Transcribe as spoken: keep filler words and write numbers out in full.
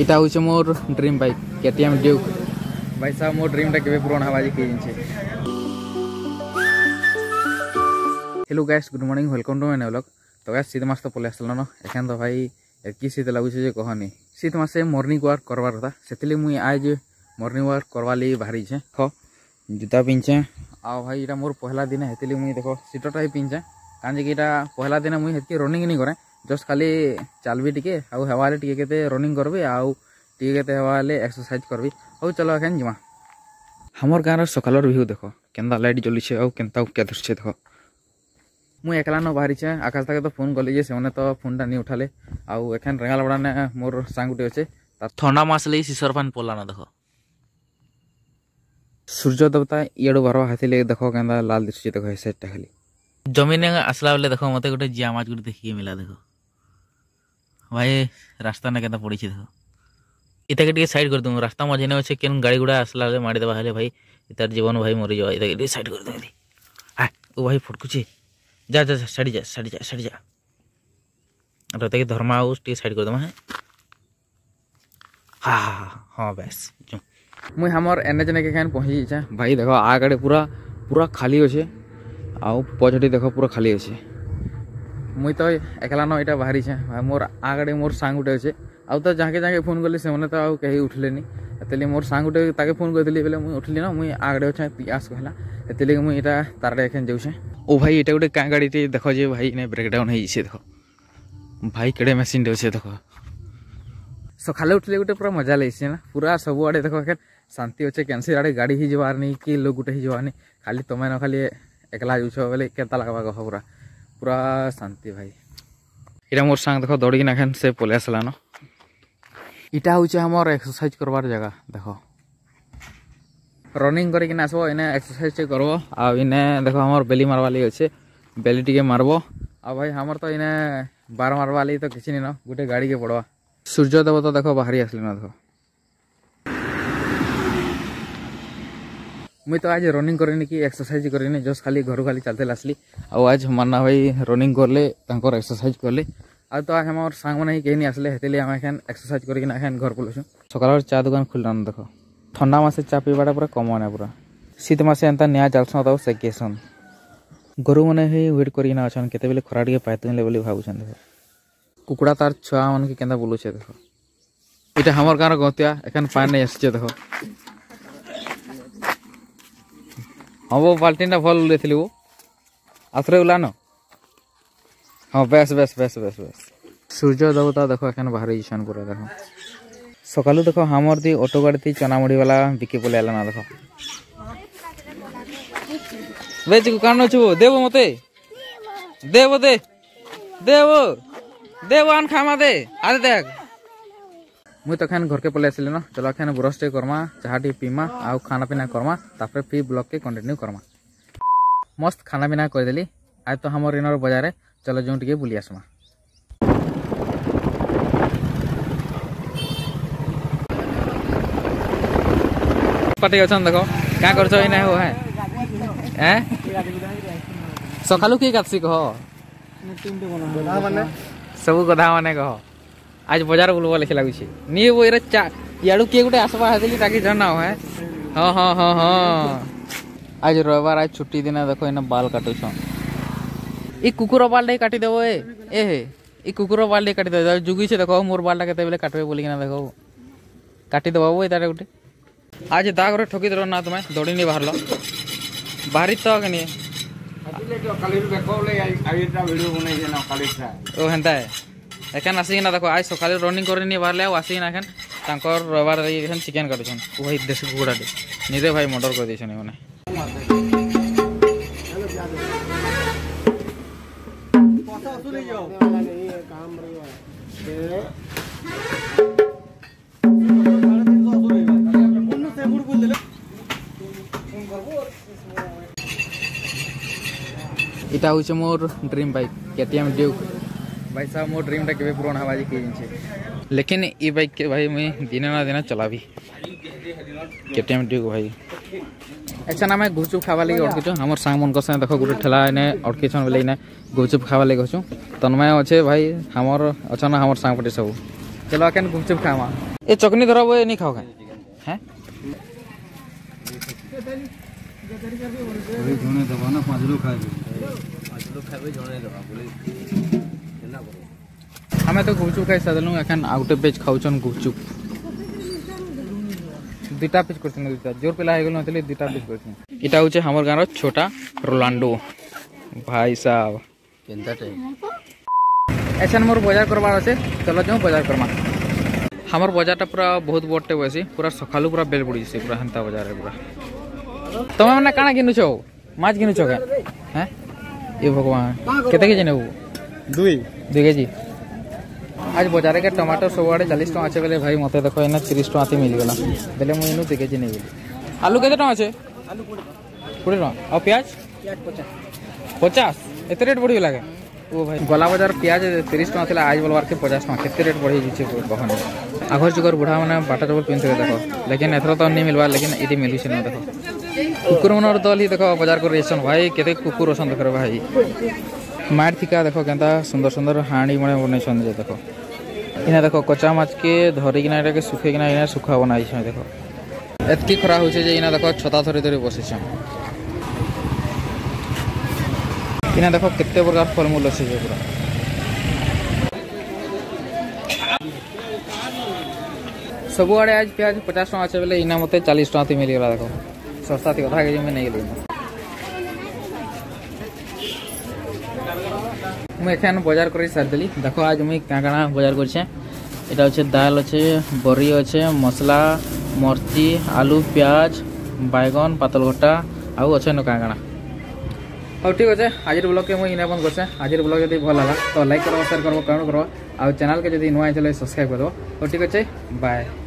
ଇଟା ହଉଛେ ମୋର ଡ୍ରିମ୍ ବାଇକ୍, କେଟିଏମ୍ ଡ୍ୟୁକ୍। ଭାଇ ସାବ, ମୋର ଡ୍ରିମ୍ ଟା କେବେ ପୂରଣ ହେବା ଯେ କିଏ ଜାଣିଛେ। Hello guys, good morning, welcome to my new vlog। ତ guys, ଶୀତ ମାସ ତ ପଲେଇ ଆସଲାନ, ଏଖାନ ତ ଭାଇ ଏତକି ଶୀତ ଲାଗୁଛେ ଯେ କହନି। ଶୀତ ମାସେ ମର୍ଣ୍ଣିଂ ୱାକ୍ କରବାର କଥା, ସେଥିଲାଗି ମୁଇଁ ଆଏ ଯେ ମର୍ଣ୍ଣିଂ ୱାକ୍ କରବାର ଲାଗି ବାହାରିଛେ। ହ, ଜୁତା ପିନ୍ଧଛେ। ଆଉ ଭାଇ, ଇଟା ମୋର ପହଲା ଦିନ, ହେତିଲି ମୁଇଁ ଦେଖ, ସିଟରଟା ହିଁ ପିନ୍ଧଛେ। କାରଣ ଯେ କି ଇଟା ପହଲା ଦିନ ମୁଇଁ ହେତକି ରନିଂ ନି କରେ, ଜଷ୍ଟ ଖାଲି ଚାଲବି ଟିକେ, ଆଉ ହେବାଲେ ଟିକେ କେତେ ରନିଂ କରବି, ଆଉ ଟିକେ କେତେ ହେବାଲେ ଏକ୍ସରସାଇଜ କରବି। ହଉ, ଚାଲ ଏଖାନ ଯିମା। ଆମର ଗାଁର ସକାଳର ଭିୟୁ ଦେଖ, କେନ୍ତା ଲାଇଟ ଜଲୁଛେ, ଆଉ କେନ୍ତା ଉକିଆ ଧରଛେ ଦେଖ। ମୁଇଁ ଏକଲା ନ ବାହାରିଛେ, ଆକାଶ ତାକେ ତ ଫୋନ କଲି ଯେ ସେମାନେ ତ ଫୋନଟା ନି ଉଠାଲେ। ଆଉ ଏଖାନ ରେଙ୍ଗାଲପଡ଼ା ନେ ମୋର ସାଙ୍ଗ ଗୁଟେ ଅଛେ, ତା ଥଣ୍ଡା ମାସ ଲାଗି ସିସର ପାନ ପଲାନ ଦେଖ। ସୂର୍ଯ୍ୟ ଦେବତା ଇଆଡୁ ବାରବା, ହେତିଲେ ଦେଖ କେନ୍ତା ଲାଲ ଦିଶୁଛେ ଦେଖ, ଏ ସାଇଡଟା ଖାଲି। ଜମିନ ଆସଲା ବେଲେ ଦେଖ, ମତେ ଗୋଟେ ଜିଆ ମାଛ ଗୋଟେ ଦେଖିକି ମିଲା ଦେଖ। ଭାଇ, ରାସ୍ତା ନା କେନ୍ତା ପଡ଼ିଛେ ଦେଖ। ଇତାକେ ଟିକେ ସାଇଡ କରିଦେମୁ, ରାସ୍ତା ମଝିରେ ଅଛେ, କେନ୍ ଗାଡ଼ି ଗୁଡ଼ା ଆସଲା ବେଲେ ମାଡ଼ି ଦେବା ହେଲେ ଭାଇ, ଇତାର ଜୀବନ ଭାଇ ମରିଯିବା। ଇତାକେ ଟିକେ ସାଇଡ କରିଦେମୁ ରେ। ହା, ଓ ଭାଇ ଫଟକୁଛେ। ଯା, ଯା, ଯା, ସାଇଡ ଯା, ସାଇଡ ଯା, ସାଇଡ ଯା। ର ତାକେ ଧର୍ମା ଆଉ ଟିକେ ସାଇଡ କରିଦେମା, ହେ। ହା, ହା, ହା, ହଁ, ବେଶ। ମୁଇଁ ଆମର ଏନ୍ଏଚ୍ ନେକେ ଏଖାନ ପହଞ୍ଚି ଯାଇଛେ। ଭାଇ ଦେଖ, ଆଗଆଡ଼େ ପୁରା, ପୁରା ଖାଲି ଅଛେ। ଆଉ ପଛଟି ଦେଖ, ପୁରା ଖାଲି ଅଛେ। ମୁଇଁ ତ ଏକଲା ନ ଇଟା ବାହାରିଛେ। ଭାଇ, ମୋର ଆଗଆଡ଼େ ମୋର ସାଙ୍ଗ ଗୁଟେ ଅଛେ। ଆଉ ତ ଯାହାକେ ଯାହାକେ ଫୋନ କଲି, ସେମାନେ ତ ଆଉ କେହି ଉଠଲେନି। ହେତିଲେ ମୋର ସାଙ୍ଗ ଗୁଟେ ତାକେ ଫୋନ କରିଥିଲି ବେଲେ ମୁଇଁ ଉଠଲି ନ, ମୁଇଁ ଆଗଆଡ଼େ ଅଛେ, ତି ଆସ କହିଲା। ହେତିଲେ ମୁଇଁ ଇଟା ତାରଆଡ଼େ ଏଖାନ ଯାଉଛେ। ଓ ଭାଇ, ଇଟା ଗୋଟେ କାଁ ଗାଡ଼ିଟେ ଦେଖ ଯେ ଭାଇ, ଇନେ ବ୍ରେକଡାଉନ ହେଇଛେ ଦେଖ। ଭାଇ, କେଡ଼େ ମେସିନଟେ ଅଛେ ଦେଖ। ସକାଲେ ଉଠଲେ ଗୋଟେ ପୁରା ମଜା ଲାଗିଛେ ନା, ପୁରା ସବୁଆଡ଼େ ଦେଖ, ଏଖାନ ଶାନ୍ତି ଅଛେ, କେନ୍ସି ଆଡ଼େ ଗାଡ଼ି ହିଁ ଯିବାର ନି, କି ଲୋକ ଗୋଟେ ହିଁ ଯିବାର ନି, ଖାଲି ତମେ ନ, ଖାଲି ଏକଲା ଯାଉଛ ବେଲେ କେନ୍ତା ଲାଗବା କହ ପୁରା, ପୁରା ଶାନ୍ତି ଭାଇ। ଇଟା ମୋର ସାଙ୍ଗ ଦେଖ, ଦୌଡ଼ିକିନା ଏଖାନ ସେ ପଲେଇ ଆସଲାନ। ଇଟା ହଉଛେ ଆମର ଏକ୍ସରସାଇଜ କରବାର ଜାଗା, ଦେଖ। ରନିଂ କରିକିନା ଆସବ, ଇନେ ଏକ୍ସରସାଇଜ ଟିକେ କରବ। ଆଉ ଇନେ ଦେଖ, ଆମର ବେଲି ମାରବା ଲାଗି ଅଛେ, ବେଲି ଟିକେ ମାରବ। ଆଉ ଭାଇ, ଆମର ତ ଇନେ ବାର ମାରବା ଲାଗି ତ କିଛି ନି ନ, ଗୋଟେ ଗାଡ଼ିକେ ପଡ଼ବା। ସୂର୍ଯ୍ୟ ଦେବତା ଦେଖ, ବାହାରି ଆସଲେ ନ ଦେଖ। ମୁଇଁ ତ ଆଜ ରନିଂ କରିନି କି ଏକ୍ସରସାଇଜ କରିନି, ଜଷ୍ଟ ଖାଲି ଘରୁ ଖାଲି ଚାଲତେଲ ଆସଲି। ଆଉ ଆଜ ମାନ୍ନା ଭାଇ ରନିଂ କରଲେ, ତାଙ୍କର ଏକ୍ସରସାଇଜ କରଲେ। ଆଉ ତ ଆଜ ଆମର ସାଙ୍ଗମାନେ ହିଁ କେହି ନି ଆସଲେ, ହେତିଲେ ଆମେ ଏଖାନ ଏକ୍ସରସାଇଜ କରିକିନା ଏଖାନ ଘର ପଲଉଛୁଁ। ସକାଳର ଚା ଦୋକାନ ଖୁଲଲାନ ଦେଖ। ଥଣ୍ଡା ମାସେ ଚା ପିଇବାଟା ପୁରା କମନ ଏ ପୁରା। ଶୀତ ମାସେ ଏନ୍ତା ନିଆଁ ଜାଲସନ୍ ଆଉ ସେକେସନ୍। ଗୋରୁମାନେ ହିଁ ୱେଟ କରିକିନା ଅଛନ୍, କେତେବେଲେ ଖରା ଟିକେ ପାଇତେଲେ ବୋଲି ଭାବୁଛନ୍ ଦେଖ। କୁକୁଡ଼ା ତାର ଛୁଆମାନକେ କେନ୍ତା ବୁଲୁଛେ ଦେଖ। ଇଟା ଆମର ଗାଁର ଗତିଆ, ଏଖାନ ପାଣି ନେଇ ଆସିଛେ ଦେଖ। ହଁ ବୋ, ବାଲ୍ଟିଟା ଭଲ ଉଲେଇଥିଲି ବୋ। ଆଉଥରେ ଉଲାନ। ହଁ, ବେଶ, ବେଶ, ବେଶ, ବେଶ, ବେଶ। ସୂର୍ଯ୍ୟ ଦେବତା ଦେଖ, ଏଖାନ ବାହାରି ଯାଇଛନ୍ ପୁରା ଦେଖ। ସକାଲୁ ଦେଖ, ଆମର ଦି ଅଟୋ ଗାଡ଼ି ଥି ଚନା ମୁଢ଼ି ବାଲା ବିକି ପଲେଇ ଆଇଲା ନା ଦେଖ। ବେ ଚିକୁ, କାଣ ନଉଛୁ? ଦେବ ମତେ। ଦେବ ଦେ। ଦେବ। ଦେବ ଆନ ଖାମା ଦେ। ଆରେ ଦେଖ। ମୁଇଁ ତ ଏଖାନ ଘରକେ ପଲେଇ ଆସିଲି ନ। ଚଲ ଏଖାନ ବ୍ରଶ ଟିକେ କରମା, ଚାହା ଟିକେ ପିମା, ଆଉ ଖାନା ପିନା କରମା, ତାପରେ ଫିର ବ୍ଲଗ କେ କଣ୍ଟିନ୍ୟୁ କରମା। ମସ୍ତ ଖାନା ପିନା କରିଦେଲି। ଆଜ ତ ଆମର ଇନର ବଜାରରେ, ଚଲ ଯେଉଁ ଟିକେ ବୁଲି ଆସମା। ପାଟି ଅଛନ୍ ଦେଖ, କାଁ କରୁଛ ଏଇନା ହୋ, ହେଁ? ଏଁ? ସକାଲୁ କିଏ କାଟସି କହ? ସବୁ ଗଧା ମାନେ କହ। ଆଜ ବଜାର ବୁଲବ ଲେଖି ଲାଗୁଛି। ନି ବୋ, ଏରେ ଚା-, ଇଆଡ଼ୁ କିଏ ଗୋଟେ ଆସବା ହେତିଲି ତାକେ ଜଣାଅ, ହେଁ? ହଁ, ହଁ, ହଁ, ହଁ। ଆଜ ରବିବାର, ଆଜ ଛୁଟି ଦିନ, ଦେଖ, ଏଇନା ବାଲ କାଟୁଛନ୍। ଇ କୁକୁର ବାଲଟା କାଟିଦେବ, ଏ, ଏ ହେ, ଇ କୁକୁର ବାଲଟା କାଟିଦେବ। ଜୁଗିଛେ ଦେଖ, ମୋର ବାଲଟା କେତେବେଳେ କାଟବେ ବୋଲିକିନା ଦେଖ। କାଟିଦେବ ବୋ, ଏଇଟାରେ ଗୋଟେ। ଆଜ ଦାଗରେ ଠକି ଦେଲ ନା ତମେ, ଦୌଡ଼ି ନି ବାହାରଲ। ବାହାରି ତ ଆଗେ ନି। ଆଜିଲେ ତ କାଲିରୁ ଦେଖ ବୋଲେ, ଆଇ, ଆଇ ଏଟା ଭିଡ଼ିଓ ବନେଇଛେ ନା କାଲିଟା। ଓ, ହେନ୍ତା ହେ। ଏଖାନ ଆସିକିନା ଦେଖ, ଆଇ ସକାଳେ ରନିଂ କରି ନି ବାହାରଲେ, ଆଉ ଆସିକିନା ଏଖାନ ତାଙ୍କର ରବିବାର ଏଖାନ ଚିକେନ କାଟୁଛନ୍। ଓ ଭାଇ, ଦେଶୀ କୁକୁଡ଼ାଟେ। ନିରେ ଭାଇ, ମର୍ଡର କରି ଦେଇଛନ୍ ଏମାନେ। ଇଟା ହଉଛେ ମୋର ଡ୍ରିମ୍ ବାଇକ୍, କେଟିଏମ୍ ଡ୍ୟୁକ୍। ଭାଇ ସାବ, ମୋର ଡ୍ରିମ୍ ଟା କେବେ ପୂରଣ ହେବା ଯେ କିଏ ଜାଣିଛେ। ଲେକିନ ଇ ବାଇକ୍ କେ ଭାଇ ମୁଇଁ ଦିନେ ନା ଦିନେ ଚଲାବି। କେଟିଏମ୍ ଡ୍ୟୁକ୍ ଭାଇ। ଏଛେନ ଆମେ ଗୁପଚୁପ ଖାଇବାର ଲାଗି ଅଟକିଛୁ। ଆମର ସାଙ୍ଗମାନଙ୍କ ସାଙ୍ଗେ ଦେଖ, ଗୋଟେ ଠେଲା ଏନେ ଅଟକିଛନ୍ ବେଲେ ଏନେ ଗୁପଚୁପ ଖାଇବାର ଲାଗି ଅଛୁ। ତନ୍ମୟ ଅଛେ ଭାଇ, ଆମର ଅଛନ୍ ଆମର ସାଙ୍ଗ ପାର୍ଟି ସବୁ। ଚାଲ, କେନ ଗୁପଚୁପ ଖାମା। ଏ ଚଟନି ଧରବ, ଏ ନି ଖାଅ କେନ? ହେଁ? ଜଣେ ଦେବା ନା, ପାଞ୍ଚ ଲୋକ ଖାଇବେ। ପାଞ୍ଚ ଲୋକ ଖାଇବେ, ଜଣେ ଦେବା, ବୁଲେଇ। ଆମେ ତ ଗୁପଚୁପ ଖାଇ ସାରିଲୁଁ, ଏଖାନ ଆଉ ଗୋଟେ batch ଖାଉଛନ୍ ଗୁପଚୁପ। ଦୁଇଟା piece କରିଛନ୍, ଦୁଇଟା। ଜୋର ପିଲା ହେଇଗଲୁ ନଥିଲେ, ଦୁଇଟା piece କରିଛନ୍। ଇଟା ହଉଛେ ଆମର ଗାଁର ଛୋଟା ରୋଲାଣ୍ଡୋ। ଭାଇ ସାବ। କେନ୍ତା ଟାଇପ? ଏଛେନ ମୋର ବଜାର କରବାର ଅଛେ, ଚାଲ ଯାଉଁ ବଜାର କରମା। ଆମର ବଜାରଟା ପୁରା ବହୁତ ବଡ଼ଟେ ବସି, ପୁରା ସକାଳୁ ପୁରା ବେଲ ପଡ଼ିଛି, ପୁରା ହେନ୍ତା ବଜାରରେ ପୁରା। ତମେ ମାନେ କାଣା କିନୁଛ? ମାଛ କିନୁଛ କେ? ହେଁ? ଏ ଭଗବାନ, କେତେ କେଜି ନେବୁ? ଦୁଇ। ଦୁଇ କେଜି। ଆଜ ବଜାରରେ କେ ଟମାଟୋ ସବୁଆଡ଼େ ଚାଳିଶ ଟଙ୍କା ଅଛେ ବେଲେ ଭାଇ, ମତେ ଦେଖ, ଏଇନା ତିରିଶ ଟଙ୍କା ତି ମିଲିଗଲା। ବେଲେ ମୁଁ ଏଇନୁ ଦୁଇ କେଜି ନେଇଗଲି। ଆଲୁ କେତେ ଟଙ୍କା ଅଛେ? କୋଡ଼ିଏ ଟଙ୍କା। ଆଉ ପିଆଜ? ପିଆଜ ପଚାଶ। ପଚାଶ? ଏତେ ରେଟ୍ ବଢ଼ିଗଲା କେ? ଓ ଭାଇ, ଗଲା ବଜାର ପିଆଜ ତିରିଶ ଟଙ୍କା ଥିଲା, ଆଜ ବଲବାର କେ ପଚାଶ ଟଙ୍କା। କେତେ ରେଟ୍ ବଢ଼ି ଯାଇଛେ କହନି। ଆଘର ଯୁଗର ବୁଢ଼ା ମାନେ ବାଟା ଚପଲ ପିନ୍ଧୁଥିଲେ ଦେଖ, ଲେକିନ ଏଥର ତ ନି ମିଲବା, ଲେକିନ ଏଠି ମିଲୁଛେ ନା ଦେଖ। କୁକୁର ମାନର ଦଲ ହିଁ ଦେଖ, ବଜାର କରି ଯାଇଛନ୍ ଭାଇ, କେତେ କୁକୁର ଅଛନ୍ ଦେଖ ରେ ଭାଇ। ମାର ଥିକା ଦେଖ, କେନ୍ତା ସୁନ୍ଦର ସୁନ୍ଦର ହାଣ୍ଡି ମାନେ ବନେଇଛନ୍ ଯେ ଦେଖ। ଇନା ଦେଖ, କଚା ମାଛ କେ ଧରିକିନା, ଏଟାକେ ଶୁଖେଇକିନା, ଇନା ଶୁଖା ବନାଇଛନ୍ ଦେଖ। ଏତକି ଖରା ହଉଛେ ଯେ ଇନା ଦେଖ, ଛତା ଧରି ଧରି ବସିଛନ୍। ଇନା ଦେଖ, କେତେ ପ୍ରକାର ଫଳମୂଲ ଅଛେ ଯେ ପୁରା। ସବୁଆଡ଼େ ଆଜ ପିଆଜ ପଚାଶ ଟଙ୍କା ଅଛେ ବେଲେ, ଇନା ମତେ ଚାଳିଶ ଟଙ୍କା ତି ମିଲିଗଲା ଦେଖ। ଶସ୍ତା ତି ଅଧା କେଜି ମୁଇଁ ନେଇଗଲି। ମୁଇଁ ଏଖାନ ବଜାର କରି ସାରିଦେଲି। ଦେଖ, ଆଜ ମୁଇଁ କାଣା କାଣା ବଜାର କରିଛେ। ଏଟା ଅଛେ ଦାଲ ଅଛେ, ବରି ଅଛେ, ମସଲା, ମର୍ଚି, ଆଲୁ, ପିଆଜ, ବାଇଗନ, ପାତଲଘଟା, ଆଉ ଅଛେ ନ କାଣା କାଣା। ହଉ, ଠିକ୍ ଅଛେ, ଆଜିର vlog କେ ମୁଇଁ ଇନେ ବନ୍ଦ କରଛେ। ଆଜିର vlog ଯଦି ଭଲ ଲାଗଲା, ତ like କରବ, share କରବ, comment କରବ, ଆଉ channel କେ ଯଦି ନୂଆ ହେଇଥିଲେ, subscribe କରିଦେବ। ହଉ, ଠିକ୍ ଅଛେ, bye।